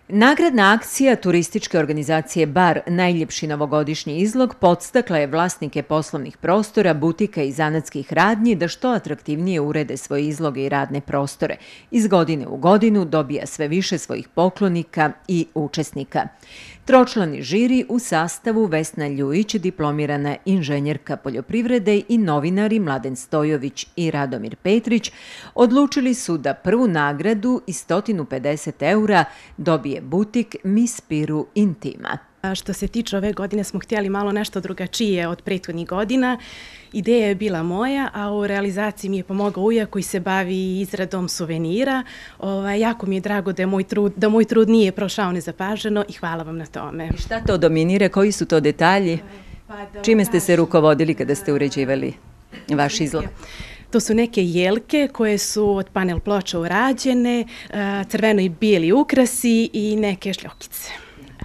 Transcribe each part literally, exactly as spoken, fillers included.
Nagradna akcija turističke organizacije Bar Najljepši novogodišnji izlog podstakla je vlasnike poslovnih prostora, butika i zanatskih radnji da što atraktivnije urede svoje izloge i radne prostore. Iz godine u godinu dobija sve više svojih poklonika i učesnika. Tročlani žiri u sastavu Vesna Ljujić, diplomirana inženjerka poljoprivrede, i novinari Mladen Stojović i Radomir Petrić odlučili su da prvu nagradu i sto pedeset eura dobije butik Miss Piru Intima. Što se tiče ove godine smo htjeli malo nešto drugačije od prethodnih godina. Ideja je bila moja, a u realizaciji mi je pomogao uja koji se bavi izradom suvenira. Ovaj, jako mi je drago da, je moj trud, da moj trud nije prošao nezapaženo i hvala vam na tome. I šta to dominira? Koji su to detalji? Čime ste se rukovodili kada ste uređivali vaš izlog? To su neke jelke koje su od panel ploča urađene, crveno i bijeli ukrasi i neke šljokice.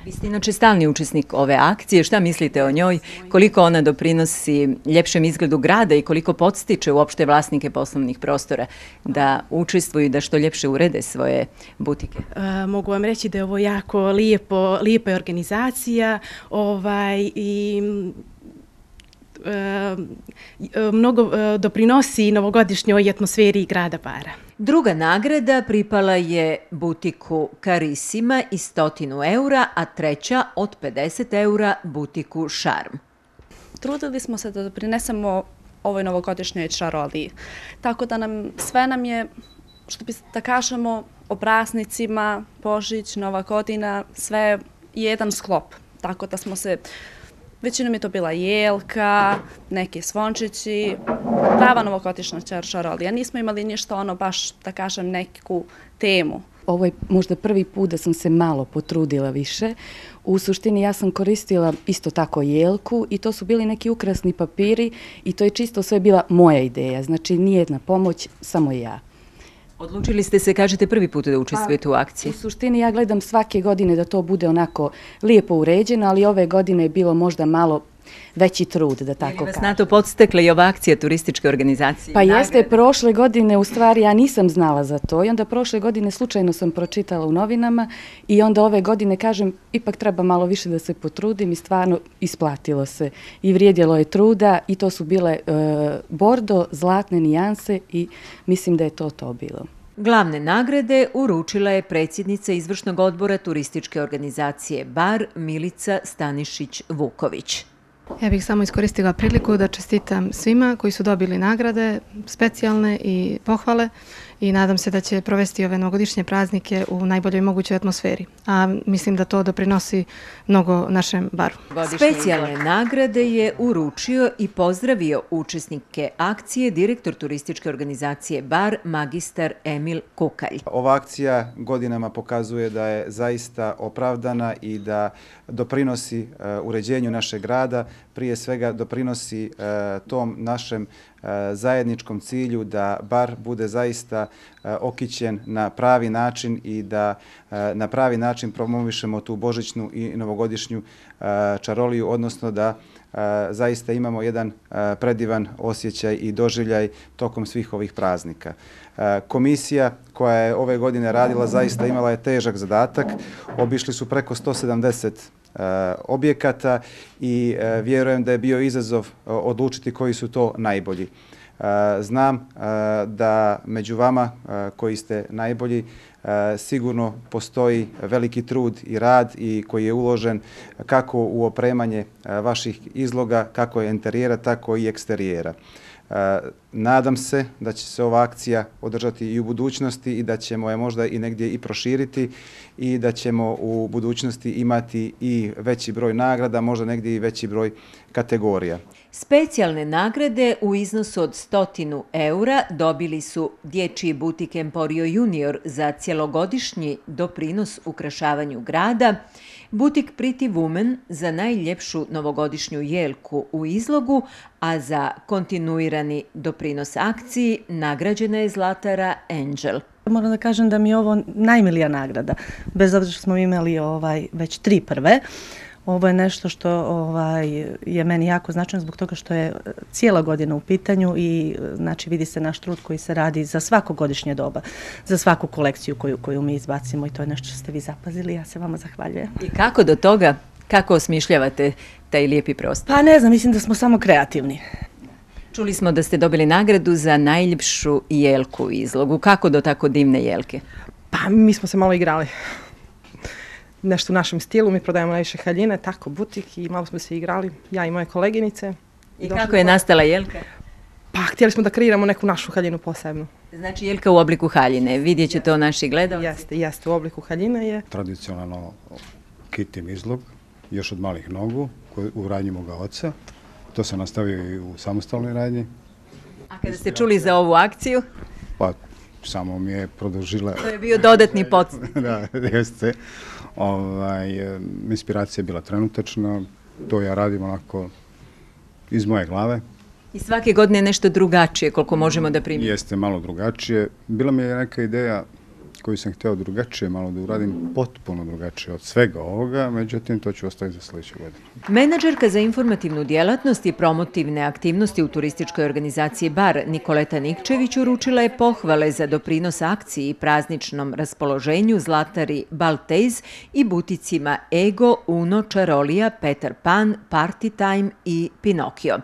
Vi ste inače stalni učesnik ove akcije. Šta mislite o njoj? Koliko ona doprinosi ljepšem izgledu grada i koliko podstiče uopšte vlasnike poslovnih prostora da učestvuju i da što ljepše urede svoje butike? E, mogu vam reći da je ovo jako lijepo, lijepa organizacija ovaj, i e, mnogo doprinosi novogodišnjoj atmosferi grada Bara. Druga nagrada pripala je butiku Karisima i stotinu eura, a treća od pedeset eura butiku Šarm. Trudili smo se da doprinesemo ovoj novogodišnjoj čaroliji. Tako da nam sve nam je, što bi da kažemo, o praznicima, Božić, Nova godina, sve jedan sklop. Tako da smo se, većinom je to bila jelka, neki zvončići, prava novogodišnja čarolija. Nismo imali ništa ono baš, da kažem, neku temu. Ovo je možda prvi put da sam se malo potrudila više. U suštini ja sam koristila isto tako jelku i to su bili neki ukrasni papiri i to je čisto sve bila moja ideja. Znači nijedna pomoć, samo ja. Odlučili ste se, kažete, prvi put da učestvujete u akciji? U suštini ja gledam svake godine da to bude onako lijepo uređeno, ali ove godine je bilo možda malo veći trud, da tako kažem. Je li vas na to podstakla i ova akcija turističke organizacije? Pa jeste, prošle godine, u stvari, ja nisam znala za to i onda prošle godine slučajno sam pročitala u novinama i onda ove godine, kažem, ipak treba malo više da se potrudim i stvarno isplatilo se. I vrijedilo je truda i to su bile e, bordo, zlatne nijanse i mislim da je to to bilo. Glavne nagrade uručila je predsjednica izvršnog odbora turističke organizacije Bar Milica Stanišić-Vuković. Ja bih samo iskoristila priliku da čestitam svima koji su dobili nagrade, specijalne i pohvale i nadam se da će provesti ove novogodišnje praznike u najboljoj mogućoj atmosferi. A mislim da to doprinosi mnogo našem Baru. Specijalne nagrade je uručio i pozdravio učesnike akcije direktor turističke organizacije Bar, magistar Emil Kukalj. Ova akcija godinama pokazuje da je zaista opravdana i da doprinosi uređenju našeg grada, prije svega doprinosi tom našem zajedničkom cilju da Bar bude zaista okićen na pravi način i da na pravi način promovišemo tu božićnu i novogodišnju čaroliju, odnosno da zaista imamo jedan predivan osjećaj i doživljaj tokom svih ovih praznika. Komisija koja je ove godine radila zaista imala je težak zadatak. Obišli su preko sto sedamdeset objekata i vjerujem da je bio izazov odlučiti koji su to najbolji. Znam da među vama koji ste najbolji sigurno postoji veliki trud i rad i koji je uložen kako u opremanje vaših izloga, kako interijera, tako i eksterijera. Nadam se da će se ova akcija održati i u budućnosti i da ćemo je možda i negdje i proširiti i da ćemo u budućnosti imati i veći broj nagrada, možda negdje i veći broj kategorija. Specijalne nagrade u iznosu od stotinu eura dobili su dječji butik Emporio Junior za cjelogodišnji doprinos ukrašavanju grada, butik Pretty Woman za najljepšu novogodišnju jelku u izlogu, a za kontinuirani doprinos akciji nagrađena je zlatara Angel. Moram da kažem da mi je ovo najmilija nagrada, bez obzira što smo imali ovaj, već tri prve. Ovo je nešto što ovaj, je meni jako značajno zbog toga što je cijela godina u pitanju i znači vidi se naš trud koji se radi za svako godišnje doba, za svaku kolekciju koju, koju mi izbacimo i to je nešto što ste vi zapazili. Ja se vama zahvaljujem. I kako do toga, kako osmišljavate taj lijepi prostor? Pa ne znam, mislim da smo samo kreativni. Čuli smo da ste dobili nagradu za najljepšu jelku u izlogu. Kako do tako divne jelke? Pa mi smo se malo igrali. Nešto u našem stilu, mi prodajemo najviše haljine, tako butik i malo smo se igrali, ja i moje koleginice. I, I kako je nastala jelka? Pa htjeli smo da kreiramo neku našu haljinu posebnu. Znači jelka u obliku haljine, vidjet će to naši gledalci? Jeste, jeste, u obliku haljine je. Tradicionalno kitim izlog, još od malih nogu, u radnji moga oca. To se nastavio i u samostalnoj radnji. A kada ste čuli za ovu akciju? Pa samo mi je produžila... To je bio dodatni podsjetnik. Da, jeste. Ovaj, inspiracija je bila trenutačna, to ja radim onako iz moje glave. I svake godine nešto drugačije, koliko možemo da primimo? Jeste, malo drugačije. Bila mi je neka ideja koju sam htio drugačije, malo da uradim potpuno drugačije od svega ovoga, međutim to ću ostaviti za sljedeću godinu. Menadžerka za informativnu djelatnost i promotivne aktivnosti u turističkoj organizaciji Bar Nikoleta Nikčević uručila je pohvale za doprinos akciji i prazničnom raspoloženju Zlatari Baltez i buticima Ego, Uno, Čarolija, Peter Pan, Party Time i Pinokio.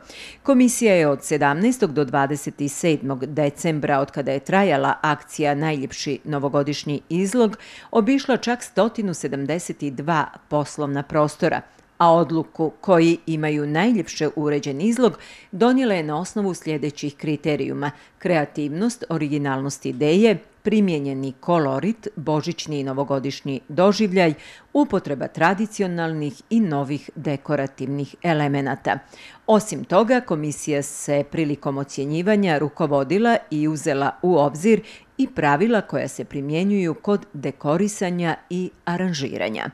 Komisija je od sedamnaestog do dvadeset sedmog decembra, od kada je trajala akcija Najljepši novogodišnji izlog, obišla čak sto sedamdeset dva poslovna prostora, a odluku koji imaju najljepše uređen izlog donijela je na osnovu sljedećih kriterijuma: kreativnost, originalnost ideje, primijenjeni kolorit, božićni i novogodišnji doživljaj, upotreba tradicionalnih i novih dekorativnih elemenata. Osim toga, komisija se prilikom ocjenjivanja rukovodila i uzela u obzir i pravila koja se primjenjuju kod dekorisanja i aranžiranja.